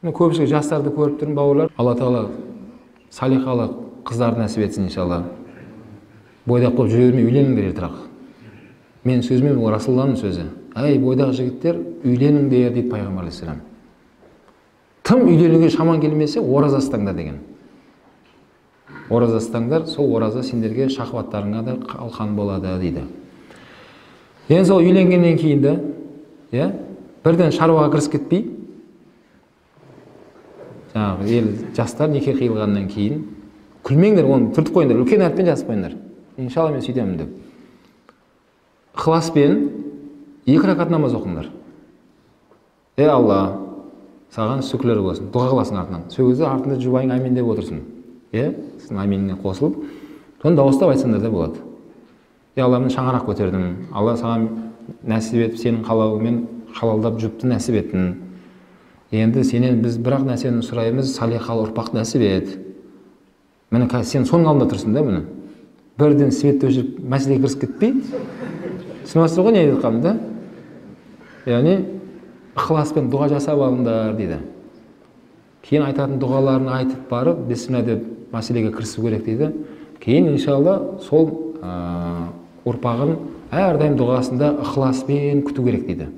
Көпчүлүк жастарды көрүп турмун, бауырлар. Алла Таала салихалы кыздарды насип этсин иншалла. Бойдак болуп жүрө бермей үйлениңдер эртерээк. Менин сөзүм бул Расулуллахтын сөзү. Ай бойдак жигиттер үйлениңдер дейт пайгамбар алейхиссалам. Тым үйлөнүүгө шаман келмесе, ораза астаңдар деген. Ораза астаңдар, сол ораза сендерге шахваттарыңа да калкан болот дейди. Эми сол үйленгенден кийин да, бирден шаруага киришип кетпей, жаңағы ел жастар неке кыйылгандан кейін күлмеңдер, оны түртүп коюңдар, үлкен әріппен жазып коюңдар. Иншалла мен сөйтемін деп. Ықыласпен 2 ракат намаз оқыңдар. Алла, саған шүкірлер болсын. Дұға қыласың артынан. Сол кезде артында жұбайың амин деп отырсын. Сіздің аминіне қосылып, соны дауыстап айтсаңдар да болады. Алла, мен шаңырақ көтердім. Алла саған нәсіп етіп, сенің қалауымен халалдап жұпты нәсіп еттің. Енді сенен біз бірақ нәрсені сұраймыз, салихалы ұрпақ нәсіп ет. Міне сен соның алдында тұрсың да, міне. Бірден светті өшіріп, мәселеге кірісіп кетпей, түсінесіздер ғой не айтып жатқанымды да? Яғни ықыласпен дұға жасап алыңдар дейді. Кейін айтатын дұғаларын айтып барып, бисмилля деп мәселеге кірісу керек дейді. Кейін иншалла сол ұрпағын әрдайым дұғасында ықыласпен күту керек дейді.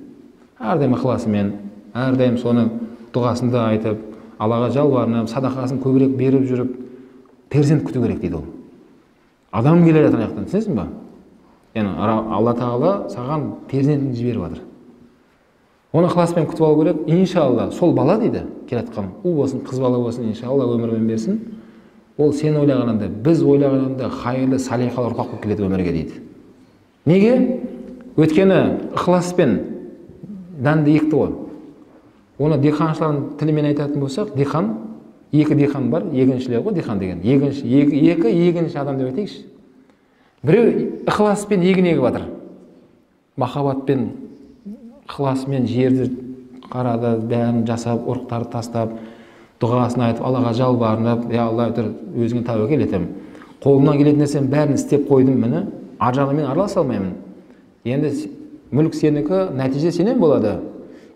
Әрдайым ықыласымен, әрдайым соны дұғасында айтып, Аллаға жалбарынып, садақасын көбірек беріп жүріп, перзент күту керек дейді ол. Адам келе жатқан жақтан, түсінесің ба? Яғни Алла Тағала саған перзентін жіберіп жатыр. Оны ықыласпен күтіп алу керек. Иншалла сол бала дейді, келатқан ұл болсын, қыз бала болсын, иншалла өмірмен берсін. Ол сен ойлағанында, біз ойлағанында хайырлы, салихалы ұрпақ болып келеді өмірге дейді. Неге? Өйткені ықыласпен дәнді екті ғой. Оны диқаншылардың тілімен айтатын болсақ, диқан, 2 диқан бар, егіншілер ғой диқан деген. Екі егінші адам деп айтайықшы. Біреу ықыласпен егін егіп жатыр. Махаббатпен, ықыласымен жерді қарады, бәрін жасап, ұрықтарды тастап, дұғасын айтып, Аллаға жалбарынып, Алла, өзіңе тәуекел етемін. Қолымнан келетін нәрсенің бәрін істеп қойдым, міне, ар жағымен араласа алмаймын. Енді мүлік сенікі, нәтиже сенен болады.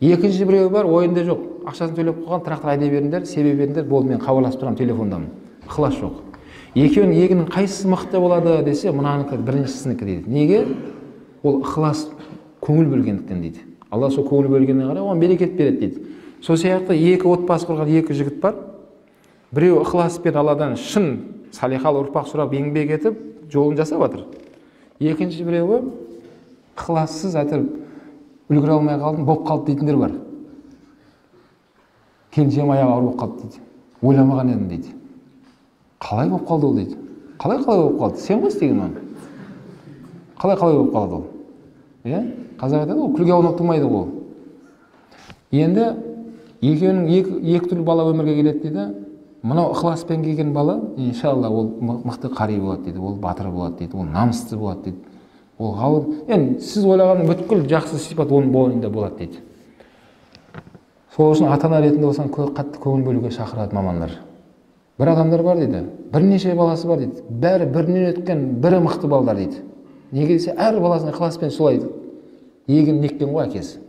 Екінші біреу бар, ойында жоқ. Ақшасын төлеп қойған, трактор айдай беріңдер, себе беріңдер, болды, мен хабарласып тұрамын телефондамын. Ықылас жоқ. Екеуінің егінің қайсысы мықты болады десе, мынанікі біріншісінікі дейді. Неге? Ол ықылас көңіл бөлгендіктен дейді. Алла сол көңіл бөлгеніне қарай оған берекет береді дейді. Сол сияқты 2 отбасы құрған 2 жігіт бар. Біреу ықыласпен Алладан шын салихалы ұрпақ сұрап еңбек етіп, жолын жасап жатыр. Екінші біреуі ықылассыз айтып үлгере алмай қалдым, болып қалды дейтіндер бар. Келіншегім аяғы ауыр болып қалды дейді. Ойламаған едім дейді. Қалай болып қалды ол дейді. Қалай болып қалды? Сен ғой істеген оны. Қалай болып қалды ол? Қазақ айтады ғой, күлге аунап тұрмайды ол. Енді екеуінің 2 түрлі бала өмірге келеді дейді. Мынау ықыласпен келген бала, иншалла ол мықты қари болады дейді. Ол батыр болады дейді. Ол намысты болады дейді. Ол ғалым, енді сіз ойлаған бүткіл жақсы сипат оның бойында болады дейді. Сол үшін ата-ана ретінде болсаң қатты көңіл бөлуге шақырады мамандар. Бір адамдар бар дейді, бірнеше баласы бар дейді. Бәрі бірінен өткен, бірі мықты балдар дейді. Неге десе, әр баласын ықыласпен солай егін неккен ғой әкесі.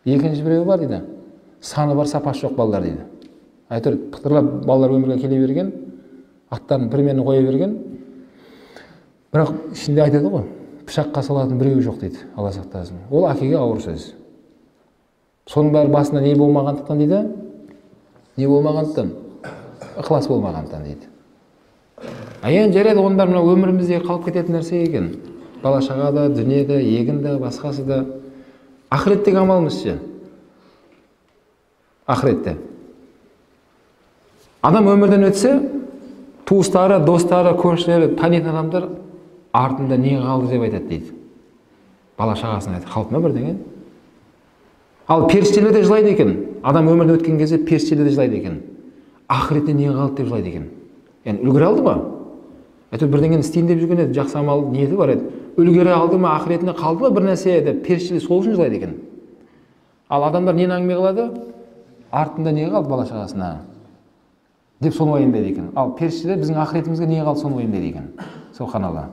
Екінші біреуі бар дейді, саны бар, сапасы жоқ балдар дейді. Әйтеуір пықтырлап балалар өмірге келе берген, аттарын бірменен қоя берген, бірақ ішінде айтады ғой, пышаққа салатын біреуі жоқ дейді, Алла сақтасын. Ол әкеге ауыр сөз. Соның бәрі басында не болмағандықтан дейді? Не болмағандықтан? Ықылас болмағандықтан дейді. Енді жарайды, ондар мына өмірімізде қалып кететін нәрсе екен. Бала шағада, дүниеде, егінде, басқасы да. Ақыреттегі амалымыз ше? Ақыретте. Адам өмірден өтсе, туыстары, достары, көршілері, танитын адамдар артында не қалды деп айтады дейді. Бала шағасына айтады, қалды ма бірдеңе? Ал періштелер де жылайды екен. Адам өмірден өткен кезде періштелер де жылайды екен. Ақыретте не қалды деп жылайды екен. Yani үлгере алды ма? Әйтеуір бірдеңені істейін деп жүрген еді, жақсы амал ниеті бар еді. Үлгере алды ма, ақыретінде қалды ма бір нәрсе деп періштелер сол үшін жылайды екен. Ал адамдар нені әңгіме қылады? Артында не қалды бала шағасына? Деп соны уайымдайды екен. Ал періштелер біздің ақыретімізге не қалды соны уайымдайды екен. Субханалла.